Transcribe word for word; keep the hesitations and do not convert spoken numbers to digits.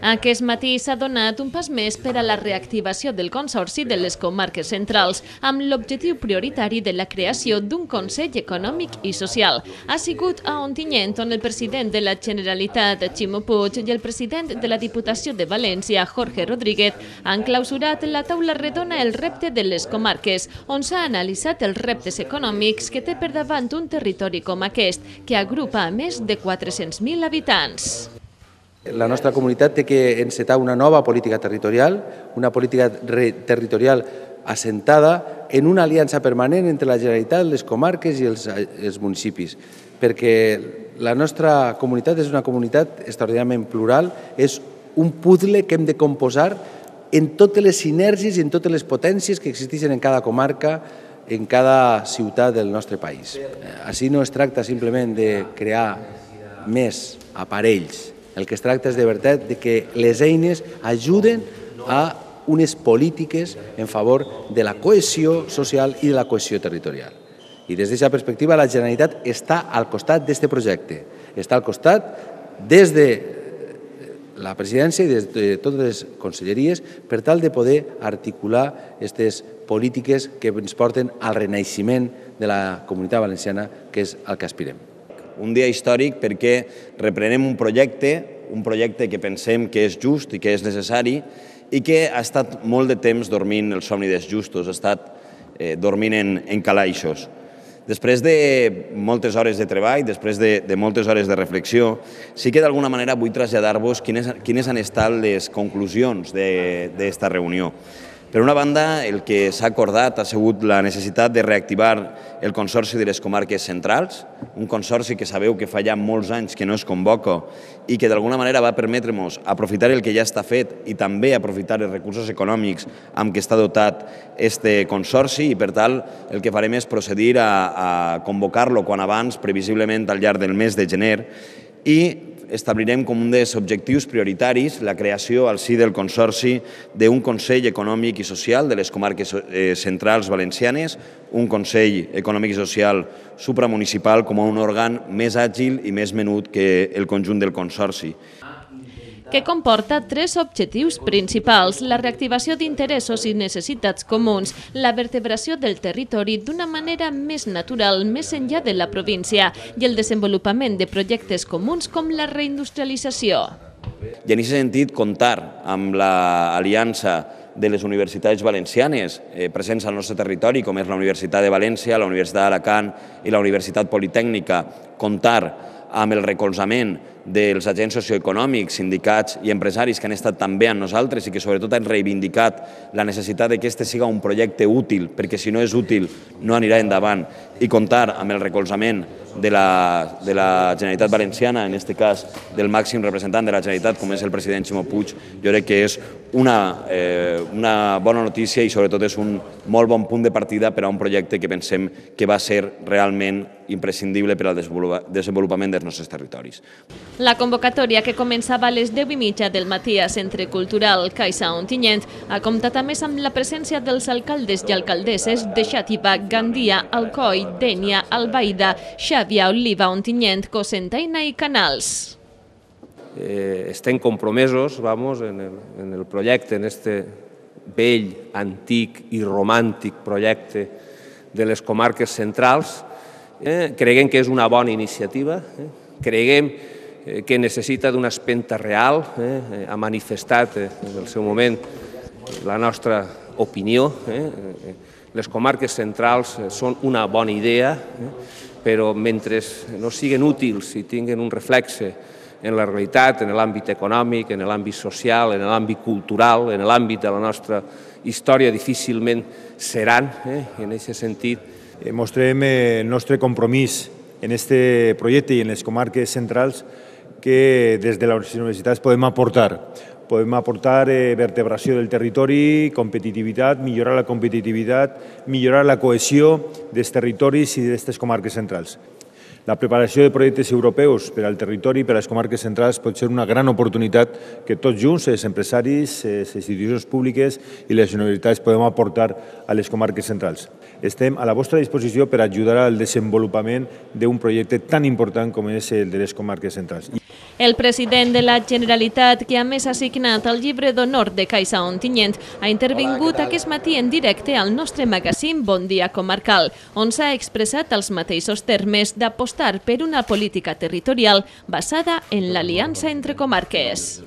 Aquest matí s'ha donat un pas més per a la reactivació del Consorci de les Comarques Centrals, amb l'objectiu prioritari de la creació d'un Consell Econòmic i Social. Ha sigut a Ontinyent on el president de la Generalitat, Ximo Puig, i el president de la Diputació de València, Jorge Rodríguez, han clausurat la taula redona El repte de les comarques, on s'ha analitzat els reptes econòmics que té per davant un territori com aquest, que agrupa a més de quatre-cents mil habitants. La nostra comunitat té que encetar una nova política territorial, una política territorial assentada en una aliança permanent entre la Generalitat, les comarques i els, els municipis, perquè la nostra comunitat és una comunitat extraordinàriament plural, és un puzzle que hem de composar en totes les sinergies i en totes les potències que existeixen en cada comarca, en cada ciutat del nostre país. Així no es tracta simplement de crear més aparells. El que es tracta és de veritat de que les eines ajuden a unes polítiques en favor de la cohesió social i de la cohesió territorial. I des d'aquesta perspectiva la Generalitat està al costat d'aquest projecte. Està al costat des de la presidència i des de totes les conselleries per tal de poder articular aquestes polítiques que ens porten al renaixement de la Comunitat Valenciana, que és al que aspirem. Un dia històric perquè reprenem un projecte, un projecte que pensem que és just i que és necessari i que ha estat molt de temps dormint el somni dels justos, ha estat eh, dormint en, en calaixos. Després de moltes hores de treball, després de, de moltes hores de reflexió, sí que d'alguna manera vull traslladar-vos quines, quines han estat les conclusions d'aquesta reunió. Per una banda, el que s'ha acordat ha sigut la necessitat de reactivar el Consorci de les Comarques Centrals, un consorci que sabeu que fa ja molts anys que no es convoca i que d'alguna manera va permetre-nos aprofitar el que ja està fet i també aprofitar els recursos econòmics amb què està dotat aquest consorci i, per tant, el que farem és procedir a, a convocar-lo quan abans, previsiblement al llarg del mes de gener, i establirem com un dels objectius prioritaris la creació al si del Consorci d'un Consell Econòmic i Social de les Comarques Centrals Valencianes, un Consell Econòmic i Social supramunicipal com a un òrgan més àgil i més menut que el conjunt del Consorci, que comporta tres objectius principals: la reactivació d'interessos i necessitats comuns, la vertebració del territori d'una manera més natural més enllà de la província i el desenvolupament de projectes comuns com la reindustrialització. I en aquest sentit, comptar amb l'aliança de les universitats valencianes eh, presents al nostre territori, com és la Universitat de València, la Universitat d'Alacant i la Universitat Politècnica, comptar amb el recolzament dels agents socioeconòmics, sindicats i empresaris que han estat també amb nosaltres i que sobretot han reivindicat la necessitat que aquest siga un projecte útil, perquè si no és útil no anirà endavant, i comptar amb el recolzament de la, de la Generalitat Valenciana, en aquest cas del màxim representant de la Generalitat, com és el president Ximo Puig, jo crec que és una, eh, una bona notícia i sobretot és un molt bon punt de partida per a un projecte que pensem que va ser realment imprescindible per al desenvolupament dels nostres territoris. La convocatòria, que començava a les deu i mitja del matí a Centre Cultural Caixa Ontinyent, ha comptat a més amb la presència dels alcaldes i alcaldesses de Xàtiva, Gandia, Alcoi, Dénia, Albaida, Xàbia, Oliva, Ontinyent, Cocentaina i Canals. Eh, estem compromesos vamos, en, el, en el projecte, en este vell, antic i romàntic projecte de les comarques centrals. Eh, creguem que és una bona iniciativa, eh, creguem eh, que necessita d'una espenta real, eh, ha manifestat eh, en el seu moment la nostra opinió. Eh, les comarques centrals eh, són una bona idea, eh, però mentre no siguin útils i tinguin un reflexe en la realitat, en l'àmbit econòmic, en l'àmbit social, en l'àmbit cultural, en l'àmbit de la nostra història, difícilment seran, eh, en aquest sentit. Mostrem el nostre compromís en aquest projecte i en les comarques centrals que des de les universitats podem aportar. Podem aportar vertebració del territori, competitivitat, millorar la competitivitat, millorar la cohesió dels territoris i d'aquestes comarques centrals. La preparació de projectes europeus per al territori i per a les comarques centrals pot ser una gran oportunitat que tots junts, els empresaris, les institucions públiques i les universitats podem aportar a les comarques centrals. Estem a la vostra disposició per ajudar al desenvolupament d'un projecte tan important com és el de les comarques centrals. El president de la Generalitat, que a més ha signat el llibre d'honor de Caixa Ontinyent, ha intervingut aquest matí en directe al nostre magazín Bon Dia Comarcal, on s'ha expressat els mateixos termes d'apostar per una política territorial basada en l'aliança entre comarques.